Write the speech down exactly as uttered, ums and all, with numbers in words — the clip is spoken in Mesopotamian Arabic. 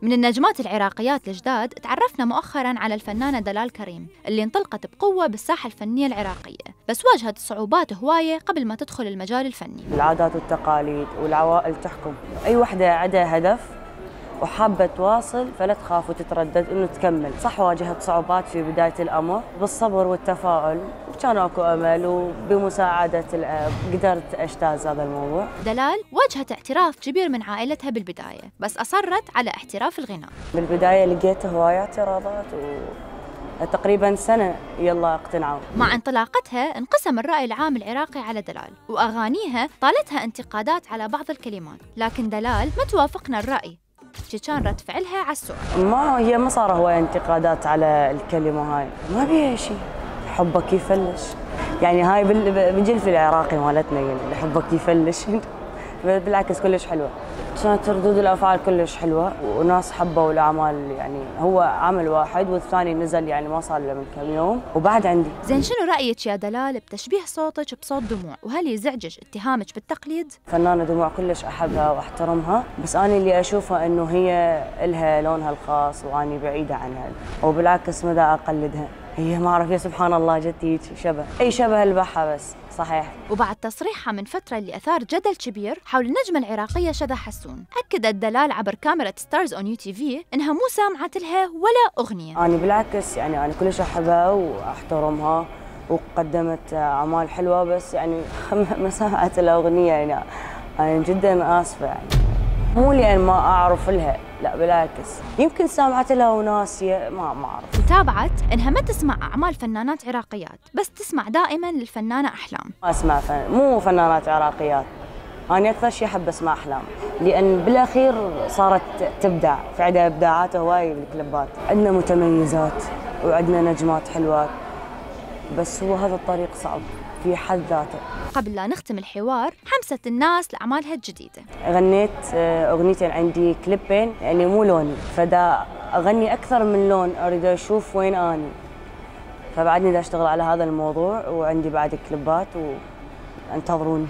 من النجمات العراقيات الجداد تعرفنا مؤخراً على الفنانة دلال كريم اللي انطلقت بقوة بالساحة الفنية العراقية، بس واجهت صعوبات هواية قبل ما تدخل المجال الفني. العادات والتقاليد والعوائل تحكم، أي وحدة عندها هدف وحابة تواصل فلا تخاف وتتردد إنه تكمل. صح واجهت صعوبات في بداية الأمر، بالصبر والتفاؤل كان اكو امل، وبمساعدة الاب قدرت اجتاز هذا الموضوع. دلال واجهت اعتراف كبير من عائلتها بالبداية، بس أصرت على احتراف الغناء. بالبداية لقيت هواية اعتراضات وتقريبا سنة يلا اقتنعوا. مع انطلاقتها انقسم الرأي العام العراقي على دلال، وأغانيها طالتها انتقادات على بعض الكلمات، لكن دلال ما توافقنا الرأي، كان رد فعلها على السؤال. ما هي ما صار هواية انتقادات على الكلمة هاي، ما بيها شيء، حبك يفلش، يعني هاي بالجلف العراقي مالتنا اللي حبك يفلش بالعكس كلش حلوة. كانت ردود الأفعال كلش حلوة وناس حبوا الأعمال، يعني هو عمل واحد والثاني نزل يعني ما صار له من كم يوم وبعد عندي. زين شنو رأيك يا دلال بتشبيه صوتك بصوت دموع، وهل يزعجك اتهامك بالتقليد؟ فنانة دموع كلش أحبها وأحترمها، بس أنا اللي أشوفها إنه هي إلها لونها الخاص وأني بعيدة عنها، وبالعكس مدى أقلدها. هي ما أعرف، يا سبحان الله جت هيك شبه، أي شبه البحة بس صحيح. وبعد تصريحها من فترة اللي أثار جدل كبير حول النجمة العراقية شذى حسون، أكدت دلال عبر كاميرا ستارز أون يو تي في إنها مو سامعت لها ولا أغنية. أنا بالعكس يعني أنا كلش أحبها وأحترمها وقدمت أعمال حلوة، بس يعني ما سمعت لها أغنية. يعني أنا جدا آسفة، يعني مو لأن ما أعرف لها، لا بالعكس يمكن سامعت لها وناسية، ما ما أعرف. وتابعت إنها ما تسمع أعمال فنانات عراقيات، بس تسمع دائماً للفنانة أحلام. ما أسمع فن... مو فنانات عراقيات، أنا أكثر شيء أحب أسمع أحلام، لأن بالأخير صارت تبدع، في عندها إبداعات هواي بالكليبات. عندنا متميزات وعندنا نجمات حلوات، بس هو هذا الطريق صعب في حد ذاته. قبل لا نختم الحوار، حمست الناس لأعمالها الجديدة. غنيت أغنيتين، عندي كليبين يعني مو لوني، فدا أغني أكثر من لون، أريد أشوف وين أني، فبعدني دا أشتغل على هذا الموضوع، وعندي بعد كليبات وانتظروني.